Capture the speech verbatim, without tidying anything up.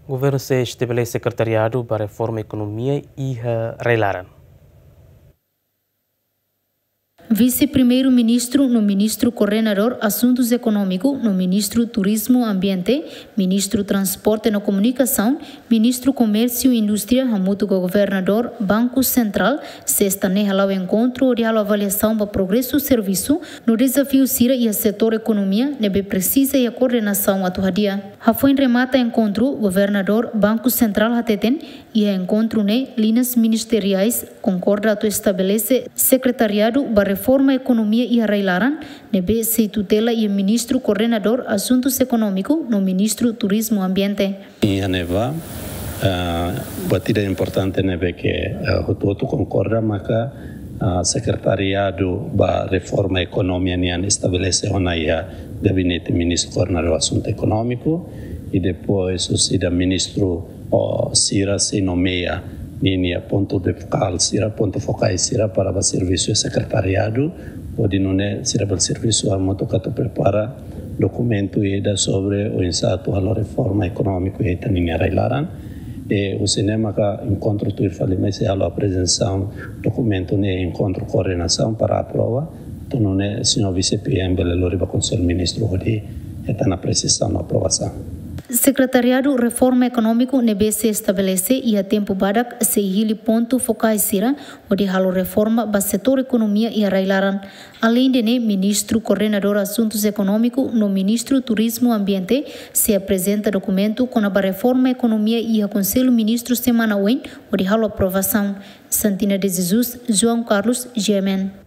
Governu sei estabelese sekretariadu ba reforma ekonomia iha rai-laran. Vise-Primeiru-Ministru no Ministru Koordenadór Asuntus Ekonómiku no Ministru Turizmu Ambiente, Ministru Transporte no Komunikasaun, Ministru Komérsiu Indústria hamutuk ho Governadór Banku Sentrál sesta ne'e hala'o enkontru hodi halo avaliasaun ba progresu servisu no dezafiu sira iha setór ekonomia ne'ebé presiza iha koordenasaun atu hadi'a. Hafoin remata enkontru, Governadór Banku Sentrál hateten, iha enkontru ne'e liñas ministeriais konkorda atu estabelese sekretariadu ba reforma ekonomia iha rai-laran ne'ebé sei tutela iha Ministru Koordenadór Asuntus Ekonómiku no Ministru Turizmu Ambiente. Iha ne'ebá, ah, buat ida importante ne'ebé ke, ah, hotu-hotu konkorda maka, ah, sekretariadu ba reforma ekonomia nian estabelese ona iha Gabinete Ministru Koordenadór Asuntu Ekonómiku, i depois husi ida ministru, o, sira sei nomeia ninia pontu de fokál sira, pontu fokais sira para ba servisu sekretariadu, hodi nune'e sira bele servisu hamutuk atu prepara dokumentu ida sobre oinsá atu halo reforma ekonomia iha ita-nia rai-laran. I husi ne'e maka enkontru tuir fali mai sei halo aprezentasaun dokumentu ne'e enkontru koordenasaun para aprova. Atu nune'e señór Vise-PM bele lori ba Konsellu Ministru hodi hetan apresiasaun no aprovasaun. Sekretariadu Reforma Ekonómiku ne'ebé sei estabelese iha tempu badak sei hili pontu fokais sira hodi halo reforma ba setór ekonomia iha rai-laran. Aleinde ne'e, Ministru Koordenadór Asuntus Ekonómiku no Ministru Turizmu Ambiente sei aprezenta dokumentu kona-ba reforma ekonomia iha Konsellu Ministru semana oin hodi halo aprovasaun. Santina de Jesus, João Carlos, G M N.